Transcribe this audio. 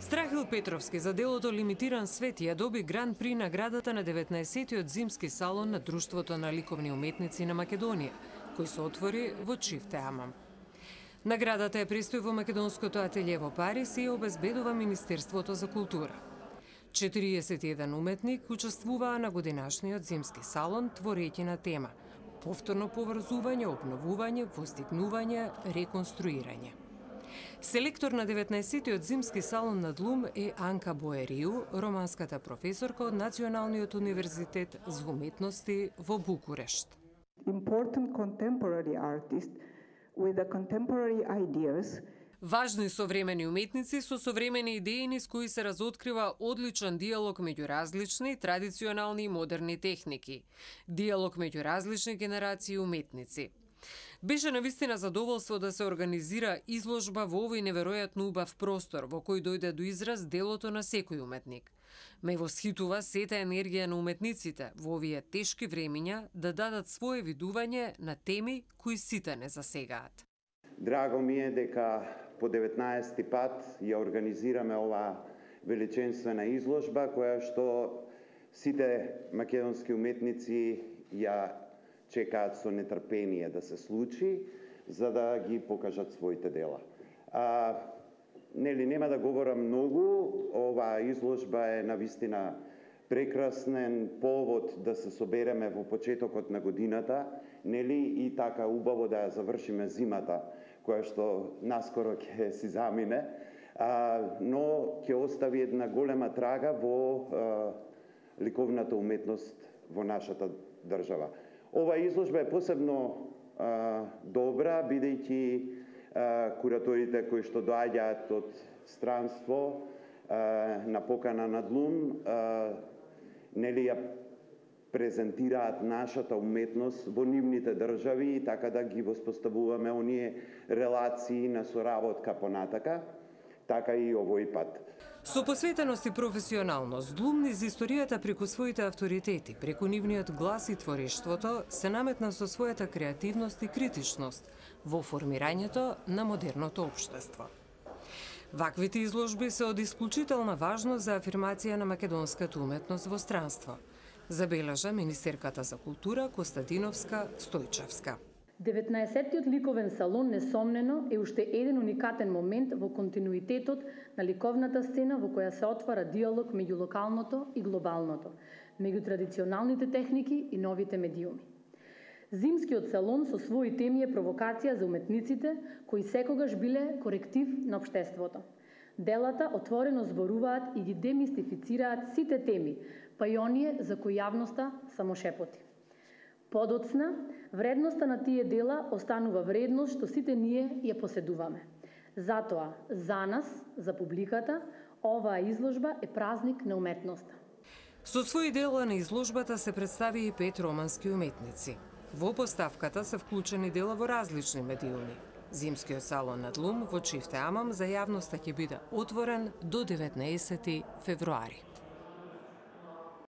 Страхил Петровски за делото Лимитиран свет ја доби гран при наградата на 19-тиот зимски салон на Друштвото на ликовни уметници на Македонија, кој се отвори во Чифте Амам. Наградата е престои во македонското ателје во Париз и ја обезбедува Министерството за култура. 41 уметник учествуваа на годинашниот зимски салон, творејќи на тема повторно поврзување, обновување, воздигнување, реконструирање. Селектор на 19-тиот зимски салон на Длум е Анка Боерију, романската професорка од Националниот универзитет за уметности во Букурешт. Important contemporary artist with the contemporary ideas. Важни современи уметници со современи идеи низ кои се разоткрива одличен диалог меѓу различни, традиционални и модерни техники. Диалог меѓу различни генерации уметници. Беше навистина задоволство да се организира изложба во овој неверојатно убав простор, во кој дојде до израз делото на секој уметник. Ме восхитува сета енергија на уметниците во овие тешки времиња да дадат свое видување на теми кои сите не засегаат. Драго ми е дека по 19 пат ја организираме ова величенствена изложба, која што сите македонски уметници ја чекаат со нетрпение да се случи, за да ги покажат своите дела. Нема да говорам многу, оваа изложба е навистина прекрасен повод да се собереме во почетокот на годината, и така убаво да ја завршиме зимата, која што наскоро ќе си замине, но ќе остави една голема трага во ликовната уметност во нашата држава. Ова изложба е посебно добра, бидејќи кураторите кои што доаѓаат од странство на покана на Длум, ја презентираат нашата уметност во нивните држави и така да ги воспоставуваме оние релации на соработка понатака, така и овој пат. Со посветеност и професионалност, Длум низ историјата преку своите авторитети, преку нивниот глас и творештвото, се наметна со својата креативност и критичност во формирањето на модерното општество. Ваквите изложби се од исклучителна важност за афирмација на македонската уметност во странство, забележа министерката за култура Костадиновска Стојчевска. 19-тиот ликовен салон несомнено е уште еден уникатен момент во континуитетот на ликовната сцена во која се отвара диалог меѓу локалното и глобалното, меѓу традиционалните техники и новите медиуми. Зимскиот салон со своји теми е провокација за уметниците кои секогаш биле коректив на општеството. Делата отворено зборуваат и ги демистифицираат сите теми, па и оние за кои јавноста само шепоти. Подоцна, вредноста на тие дела останува вредност што сите ние ја поседуваме. Затоа, за нас, за публиката, оваа изложба е празник на уметноста. Со своји дела на изложбата се представи и 5 романски уметници. Во поставката се вклучени дела во различни медиуми. Зимскиот салон на Длум во Чифте Амам за јавноста ќе биде отворен до 19 февруари.